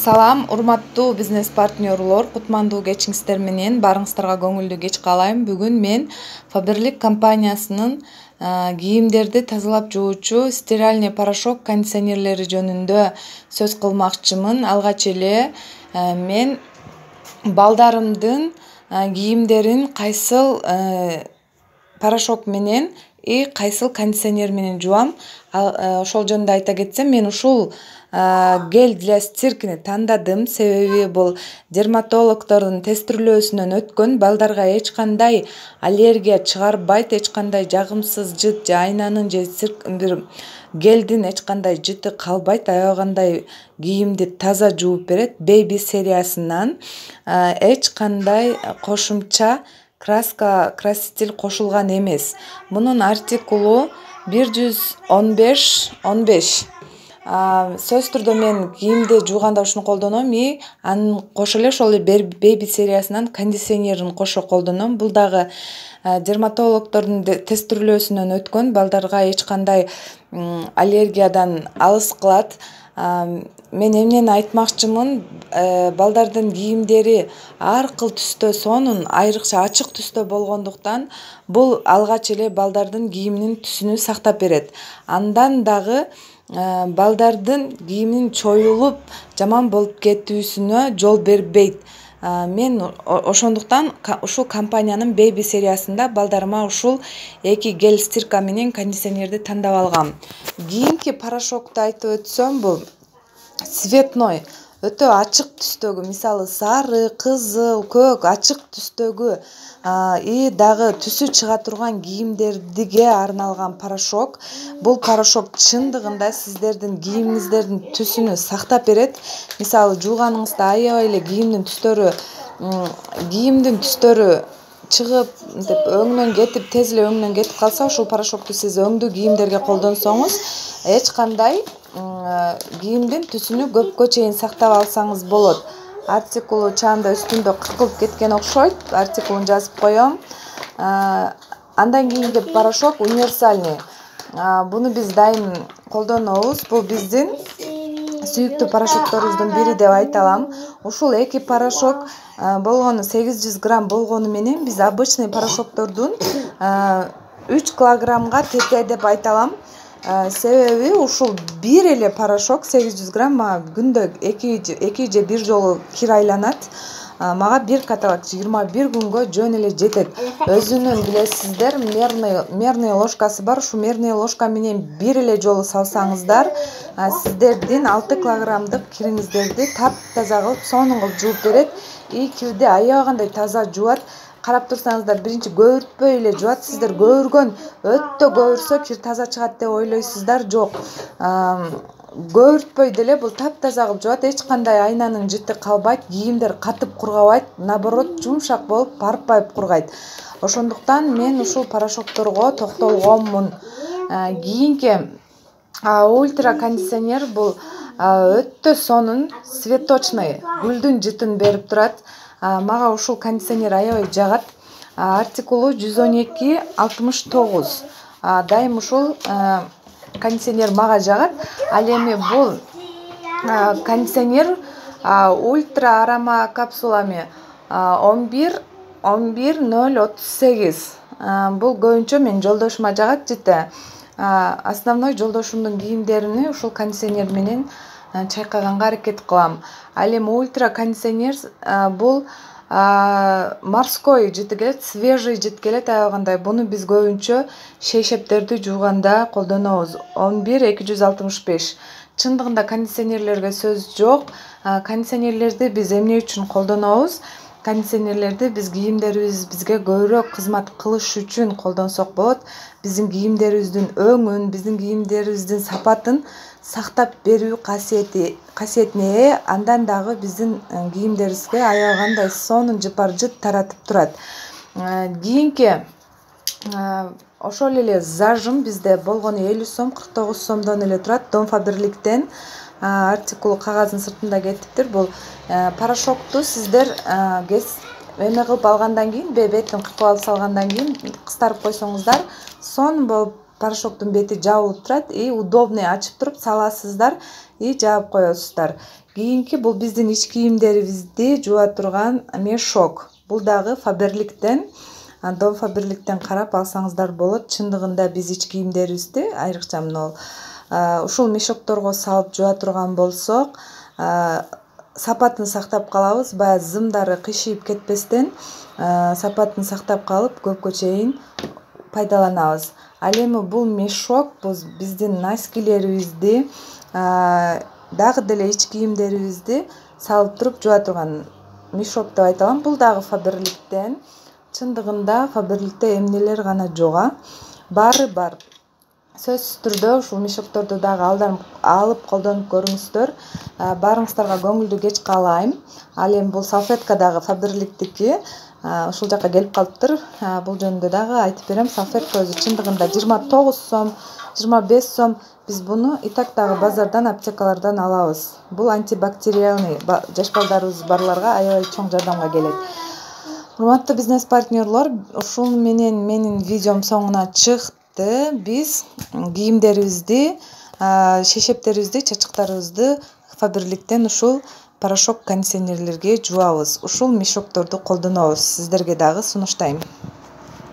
Салам, урматтуу бизнес партнерлор, кутмандуу кечиңиздер менен баарыңыздарга көңүлдүү кеч каалайм. Бүгүн мен Faberlic компаниясынын кийимдерди тазалап жуучу стиральный порошок кондиционерлери жөнүндө сөз кылмакчымын. Алгач эле мен балдарымдын кийимдерин кайсыл порошок менен кайсыл кондиционер менен жуам. Ошол жөнүндө айта кетсем, мен ушул гель для стиркини тандадым. Себеби бул дерматологдордун тестирлөөсүнөн өткөн, балдарга эч кандай аллергия чыгарбайт, эч кандай жагымсыз жыт же айнанын же бир гелдин эч кандай жыты калбайт, аябагандай кийимди таза жууп берет. Baby сериясынан эч кандай кошумча краситель кошулган эмес. Мунун артикулу 115. Сөзсүз түрдө мен кийимди жууганда ушуну колдоном, анын кошо эле ошол Baby сериясынан кондиционерин кошо колдоном. Бул дагы дерматологдордун тестирлөөсүнөн өткөн, балдарга эч кандай аллергиядан алыс кылат. Мен эмнени айтмакчымын, балдардын кийимдери ар кыл түстө, сонун айрыкча ачык түстө болгондуктан бул алгач эле балдардын кийиминин түсүнү сактап берет. Андан дагы балдардын кийиминин чоюлуп жаман болуп кетүүсүнө жол бербейт. Мен ошондуктан ушул компаниянын Baby сериясында балдарыма ушул эки гель стирка менен кондиционерди тандап алгам. Кийинки порошокту айтып өтсөм, бул цветной, өтө ачык түстөгү, мисалы сары, кызыл, көк ачык түстөгү дагы түсү чыга турган кийимдерге арналган порошок. Бул порошок чындыгында сиздердин кийимиңиздердин түсүнү сактап берет. Мисалы жууганыңызда аябай эле кийимдин түстөрү чыгып, өңүнөн кетип, тез эле өңүнөн кетип калса, ушул порошокту сиз өңдүү кийимдерге колдонсоңуз, эч кандай кийимдин түсүнү көпкө чейин сактап алсаңыз болот. Артикулу чаанда үстүндө кыркылып кеткен окшойт. Артикулун жазып коем. Андан кийинки порошок универсальный. Буну биз дайым колдонобуз. Бул биздин сүйүктүү порошокторубуздун бири деп айта алам. Ушул эки порошок болгону 800 грамм болгону менен биз обычный порошоктордун 3 килограммга тете деп айта алам. Себеби ушул бир эле порошок 800 грамм мага күндө 2 же 1 жолу кир айланат. Мага бир каталак 21 күнгө жөн эле жетет. Өзүнүн билесиздер, мерный ложкасы бар. Ушу мерный ложка менен бир эле жолу салсаңыздар, сиздердин 6 килограммдык кириңиздерди таптаза кылып, сонун кылып жууп берет. Кирди аябагандай таза жуат. Карап турсаңыздар, биринчи көбүртпөй эле жуат. Сиздер көбүргөн, өтө көбүрсө кир таза чыгат деп ойлойсуздар. Жок. Көбүртпөй деле бул таптаза кылып жуат. Эч кандай айнанын жыты калбайт, кийимдер катып кургабайт, наоборот жумшак болуп, парпайып кургайт. Ошондуктан мен ушул порошокторго токтолгонмун. Кийинки ультра кондиционер бул өтө сонун, цветочный, гүлдүн жытын берип турат. Мага ушул кондиционер аябай жагат. Артикулу 112-69. Дайым ушул кондиционер мага жагат. Ал эми бул кондиционер ультра арома капсулами 11-038. Бул көбүнчө мен жолдошума жагат жыты. Основной жолдошумдун кийимдерини ушул кондиционер менен чайкаганга аракет кылам. Ал эми ультра кондиционер бул морской жыты келет, свежий жыт келет аябагандай. Буну биз көбүнчө шейшептерди жууганда колдонобуз. 11-265. Чындыгында кондиционерлерге сөз жок. Кондиционерлерди биз эмне үчүн колдонобуз? Кондиционерлерди биз кийимдерибиз бизге көбүрөөк кызмат кылыш үчүн колдонсок болот. Биздин кийимдерибиздин өңүн, биздин кийимдерибиздин сапатын сактап берүү касиетине ээ. Андан дагы биздин кийимдерибизге аябагандай сонун жыпар жыт таратып турат. Кийинки ошол эле зажим бизде болгону 50 сом, 49 сомдон эле турат. Дом Faberlic'тен артикулу кагаздын сыртында кетиптир. Бул порошокту сиздер кылып алгандан кийин, бетин кыркып алып салгандан кийин кыстарып койсоңуздар, сонун болуп порошоктун бети жабылып турат и удобный ачып туруп саласыздар и жаап коесуздар. Кийинки бул биздин ич кийимдерибизди жууа турган мешок. Бул дагы Faberlic'тен, Dom Faberlic'тен карап алсаңыздар болот. Чындыгында биз ич кийимдерибизди айрыкча мына ушул мешокторго салып жууа турган болсок, сапатын сактап калабыз. Баягы зымдары кыйшыйып кетпестен сапатын сактап калып көпкө чейин пайдаланабыз. Ал эми бул мешок биздин носкилерибизди дагы деле ич кийимдерибизди салып туруп жууа турган мешок деп айта алам. Бул дагы Faberlic'тен. Чындыгында Faberlic'те эмнелер гана жок. Баары бар. Сөзсүз түрдө ушул мешокторду дагы алып колдонуп көрүңүздөр. Баарыңыздарга көңүлдүү кеч каалайм. Ал эми бул салфетка дагы Faberlic'тики. Ушул жака келип калыптыр. Бул жөнүндө дагы айтып берем. Салфетка өзү чындыгында 29 сом, 25 сом. Биз буну Итактагы базардан, аптекалардан алабыз. Бул антибактериальный, жаш балдарыбыз барларга аябай чоң жардамга келет. Урматтуу бизнес партнерлор, ушул менен менин видеом соңуна чыкты. Биз кийимдерибизди, шешептерибизди, чачактарыбызды Faberlic'тен ушул порошок кондиционерлерге жуабыз. Ушул мешокторду колдонобуз. Сиздерге дагы сунуштайм.